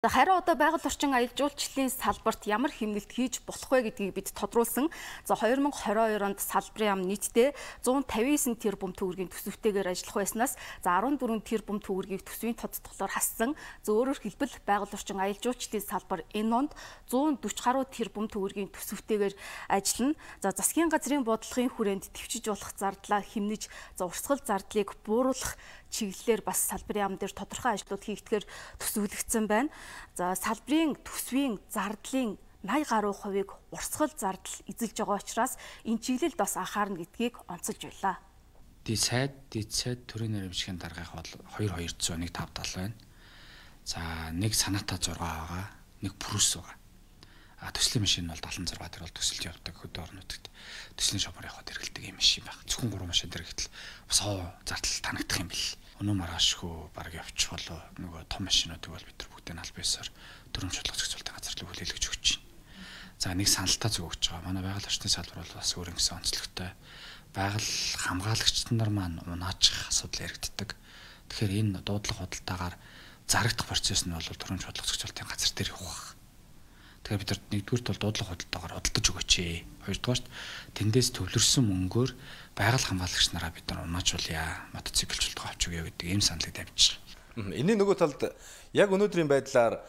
Харин одоо байгаль орчин аялал жуулчлалын салбарт ямар хэмнэлт хийж болох вэ гэдгийг бид тодруулсан. 2022 онд салбарын ам нийтдээ 159 тэрбум төгрөгийн төсөвтэйгээр ажиллах байснаас 14 тэрбум төгрөгийг төсвийн тодтголоор хассан. Өөрөөр хэлбэл байгаль орчин аялал жуулчлалын салбар энэ онд 140 гаруй тэрбум төгрөгийн төсөвтэйгээр ажиллана. Засгийн газрын бодлогын хүрээнд төвчж болох зардлаа хэмнэж, урсгал зардлыг бууруулах чиглэлээр бас салбарын ам дээр тодорхой ажлууд хийгдэхээр төсөвлөгдсөн байна. Салбарын төсвийн зардлын 80 гаруй хувийг урсгал зардал эзэлж байгаа учраас энэ чиглэлд бас анхаарна гэдгийг онцолж байлаа. Дээд сайд төрийн нэрмжийн даргаах бол 2200 15070 байна. За нэг санаата 6 байгаа, нэг прус байгаа. Төслийн машин бол 76 тэр бол төсөлж явдаг хөдөө орнуудад. Төслийн шопор явахад хэрэгэлдэг юм машин байна. Зөвхөн 3 машин дээр гэтэл бас зардал танагдах юм бэл. Өнөө маргаашгүй баг явчих болоо нөгөө том машинуудыг бол бид нар бүгдээ нь аль биесээр төрөмж бодлого зохицуулалтын газар руу хүлээлгэж өгч байна. За нэг саналтаа зөв өгч байгаа. Манай байгаль орчны салбар бол бас өөр нэгэн онцлогтой. Байгаль хамгаалагчид нар маань унаачих асуудал яригддаг. Тэгэхээр энэ дуудлага худалдаагаар зарагдах процесс нь бол төрөмж бодлого зохицуулалтын газар дээр явах. Тэгэхээр бид нар нэгдүгürt бол дуудлага худалдаагаар худалдаж өгөөч. Хоёрдугаарт тэндээс төвлөрсөн мөнгөөр байгаль хамгаалагч нараа бид нар унаачуулъя, мотоциклчилтгоо авч өгье гэдэг ийм саналыг тавьчих. Энийн нөгөө талд яг өнөөдрийн байдлаар